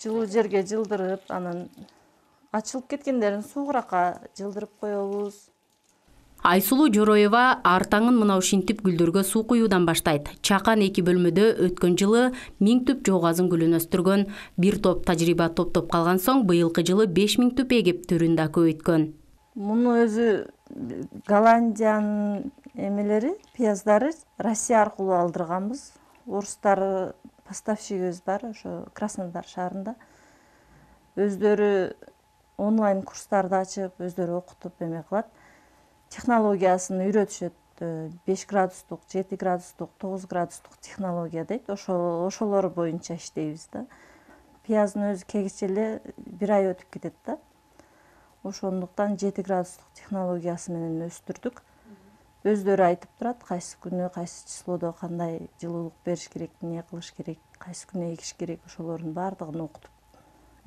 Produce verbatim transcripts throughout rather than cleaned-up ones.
жылуу жерге жылдырып, анан ачылып кеткендерин суугуракка жылдырып коебуз. Айсулуу Жороева ар таңын мына ушинтип гүлдөргө суу куюудан баштайт. Чакан эки бөлмөдө өткөн жылы миң түп жоогазын гүлүн өстүргөн. Бир топ тажрыйба топтоп калган соң быйылкы жылы беш миң түп эгип түрүн да көбөйткөн. Муну өзү Голландиянын эмелери, пияздары Россия аркылуу алдырганбыз. Орустар поставщигибиз бар, ошо Краснодар шаарында. Өздөрү онлайн курстарды ачып, өздөрү окутуп эме кылат. Технологиясын үйрөтүшөт. беш градустук, жети градустук, тогуз градустук технология дейт. Ошол ошолор боюнча иштейбиз да. Пияздын өзү кегиче эле бир ай өтүп кетет да. Ошондуктан жети градустук технологиясы менен өстүрдүк. Өздөрү айтып турат, кайсы күнү, кайсы числодо кандай жылуулук бериш керек, эмне кылыш керек, кайсы күнү эгиш керек, ошолордун баардыгын окутуп,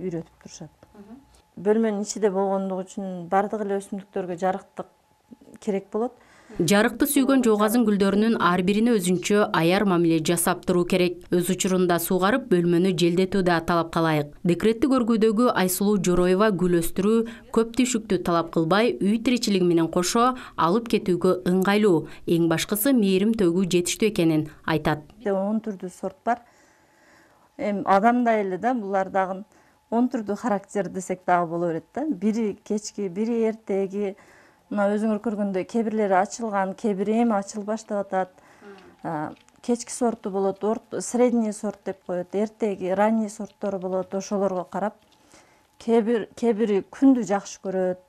үйрөтүп турушат. Бөлмөнүн ичинде болгондугу үчүн баардык эле өсүмдүктөргө жарыктык керек болот. Жарыкты сүйгөн жоогазын гүлдөрүнүн ар бирине өзүнчө аяр мамиле жасап туруу керек. Өз учурунда суугарып, бөлмөнү желдетүү да талапка ылайык. Декреттик өргүүдөгү Айсулуу Жороева гүл өстүрүү көп түйшүктү талап кылбай, үй тиричилиги менен кошо алып кетүүгө ыңгайлуу. Эң башкысы мээрим төгүү жетиштүү экенин айтат. он түрдүү сорт бар. Эми адамдай эле да, булар дагы он түрдүү характер десек дагы боло берет да. Бири кечки, бири эртеги. Мына өзүңөр көргөндөй кээ бирлери ачылган, кээ бири эми ачылып баштап атат. Кечки сорту болот, средний сорт деп коет, эртеги, ранний сорттору болот. Ошолорго карап, кээ бир кээ бири күндү жакшы көрөт,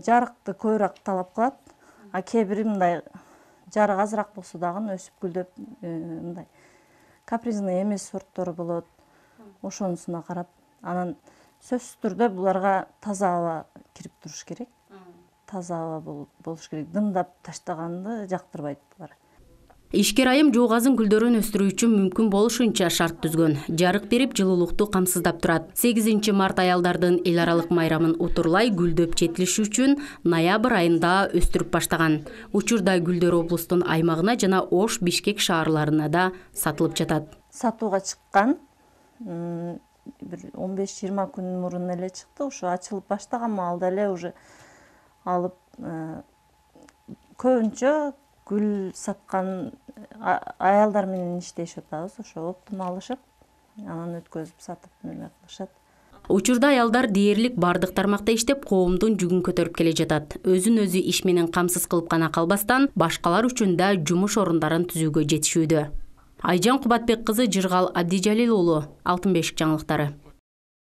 жарыкты көбүрөөк талап кылат. А кээ бири мындай жарык азыраак болсо дагы өсүп гүлдөп, мындай капризный эмес сорттору болот. Ошонусуна карап, анан сөзсүз түрдө буларга таза аба кирип туруш керек. Таза аба болуш керек. Дымдап таштаганды жактырбайт булар. Ишкер айым жоогазын гүлдөрүн өстүрүү үчүн мүмкүн болушунча шарт түзгөн. Жарык берип, жылуулукту камсыздап турат. сегизинчи март аялдардын эл аралык майрамын утурлай гүлдөп жетилиши үчүн ноябрь айында өстүрүп баштаган. Учурда гүлдөр облустун аймагына жана Ош, Бишкек шаарларына да сатылып жатат. Сатууга чыккан бир он беш жыйырма күн мурун эле чыкты. Ошо ачылып баштаган маалда эле уже алып, көбүнчө гүл саткан аялдар менен иштешип атабыз. Ошо оптумалышып, анан өткөзүп сатып эме кылышат. Учурда аялдар дээрлик бардык тармакта иштеп, коомдун жүгүн көтөрүп келе жатат. Өзүн өзү иш менен камсыз кылып гана калбастан, башкалар үчүн да жумуш орундарын түзүүгө жетишүүдө. Айжан Кубатбек кызы, Жыргал Абдижалил уулу, Алтын бешик жаңылыктары.